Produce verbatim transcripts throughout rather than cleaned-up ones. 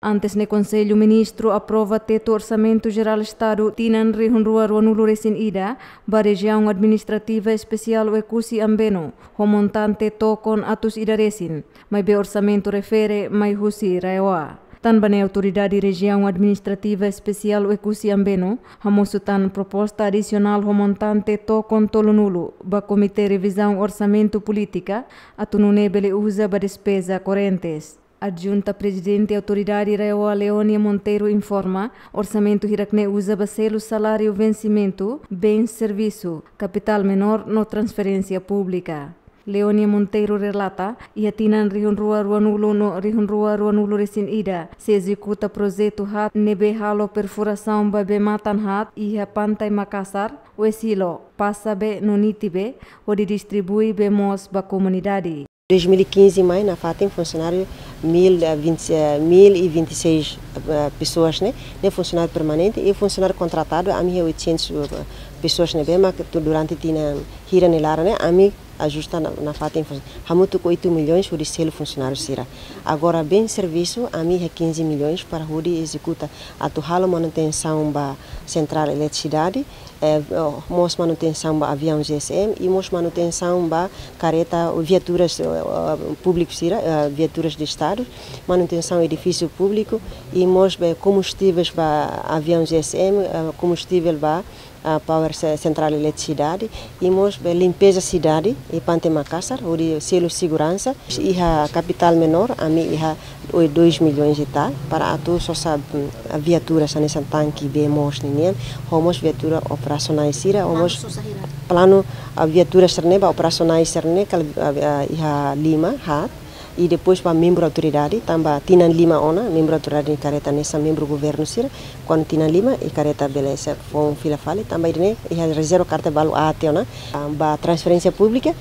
Antes ne'e, Konsellu Ministru aprova tetu Orsamentu Jerál Estadu tinan rihun rua ruanulu resin ida ba Rejiaun Administrativa Espesiál Oekusi Ambeno, ho montante tokon atus ida resin, maibé orsamentu refere mai husi RAEOA. Tanba ne'e, Autoridade Rejiaun Administrativa Espesiál Oekusi Ambeno hamosu tan proposta adisionál ho montante tokon tolunulu ba Komité Revizaun Orsamentu Polítika, atu nune'e bele uza ba despeza korrentes. Adjunta Prezidente Autoridade RAEOA, Leonia Monteiro, informa, orsamentu hirak-ne'e uza ba selu saláriu vensimentu, bens servisu, kapitál menór no transferénsia públika. Leonia Monteiro relata, iha tinan rihun rua ruanulu no rihun rua ruanulu resin ida, sei ezekuta projetu haat ne'ebé halo perfurasaun ba bee-matan haat iha Pantai Makasar, Oesilo, Pasabe no Nitibe, hodi distribui bee moos ba komunidade. Dois mil e quinze mai nafatin funsionáriu mil, eh, vinte, eh, mil e vinte e seis, eh, pessoas ne'e, ne'e funsionáriu permanente, i funsionáriu kontratadu, ami iha oitocentos, eh, pessoas ne'ebé mak tu durante tinan hira nia laran ne'e, ami ajusta na, nafatin fun-, hamutuk oito milhões hodi selu funsionáriu sira. Agora, bens servisu, ami iha quinze milhões para hodi ezekuta atu halo manutensaun ba sentrál eletrisidade, eh, mós manutensaun ba aviaun GSM i mós manutensaun ba kareta, viaturas, eh, públiku sira, eh, viaturas de Estadu, manutensaun edifísiu públiku i mós be kombustíveis ba aviaun GSM, eh, kombustível ba, ah, power se-, sentrál eletrisidade i mós be limpeza sidade i Pantai Makasar, hodi selu seguransa. Iha kapitál menór, ami iha oi dois milhões e tal, para atu sosa, mm, viaturas hanesan tanke bee moos ninian, ho mós viatura operasionál sira, ho mós planu, ah, viatura sira-ne'e ba operasionál sira-ne'e, kal, ah, ah, iha lima, haat, i depois ba membru autoridade, tanba tinan lima ona, membru autoridade nia kareta hanesan membru governu sira, kuandu tinan lima, i kareta bele sei foun fila fali, tanba ida-ne'e, iha rezerva karta balu aat ona, ah, ba transferénsia públika,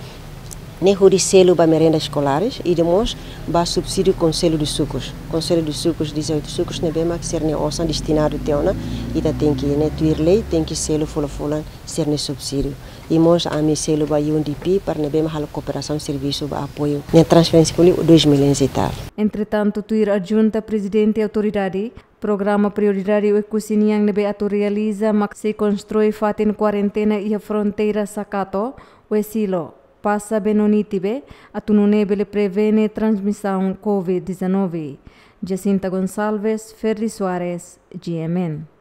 ne'e hodi selu ba merenda escolares, i depois ba subsídiu Konsellu dos Sucos. Konsellu dos Sucos, dezoito sucos, ne'ebé mak sira-nia osan destinadu tiha ona, ita tenke, ne'e tuir lei, tenke selu fulan-fulan sira-nia subsídiu. I mós ami selu ba U N D P, para ne'ebé mak halo kooperasaun servisu ba apoiu. Ne'e transferénsia públiku dois milhões e tal. Entretantu, tuir Adjunta Prezidente Autoridade, programa Prioridade Oekusi nian ne'ebé atu realiza mak sei konstrui fatin kuarentena iha fronteira Sakato, Oesilo, Pasabe no Nitibe, atu nune'e bele prevene transmisaun covid dezanove. Jacinta Gonçalves, Ferdi Soares, G M N.